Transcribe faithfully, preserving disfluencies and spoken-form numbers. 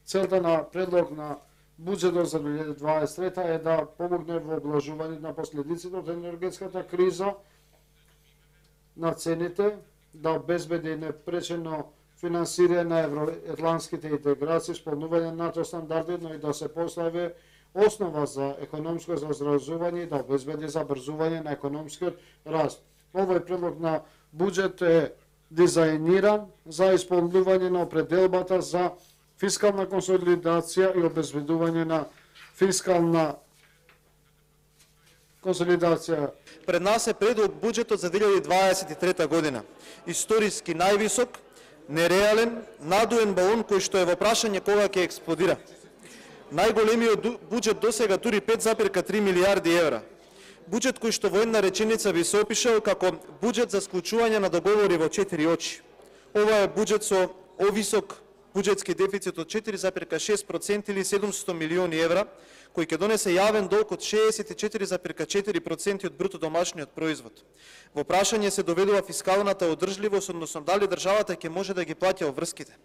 Целта на предлог на буџетот за две илјади дваесет и трета е да помогне во облажување на последиците од енергетската криза, на цените, да обезбеди непречено финансирање на евроатлантските интеграции, исполнување на НАТО стандарди, но и да се постави основа за економско заздравување и да обезбеди забрзување на економскиот раст. Овој предлог на буџет е дизајниран за исполнување на определбата за фискална консолидација и обезбедување на фискална консолидација. Пред нас е предлог буџетот за две илјади дваесет и трета година. Историски највисок, нереален, надуен балон кој што е во прашање кога ќе експлодира. Најголемиот буџет досега тури пет зарез три милијарди евра. Буџет кој што во една реченица би се опишал како буџет за склучување на договори во четири очи. Ова е буџет со овисок буџетски дефицит од четири зарез шест проценти или седумстотини милиони евра, кој ќе донесе јавен долг од шеесет и четири зарез четири проценти од бруто домашниот производ. Во прашање се доведува фискалната одржливост, односно дали државата ќе може да ги плаќа обврските.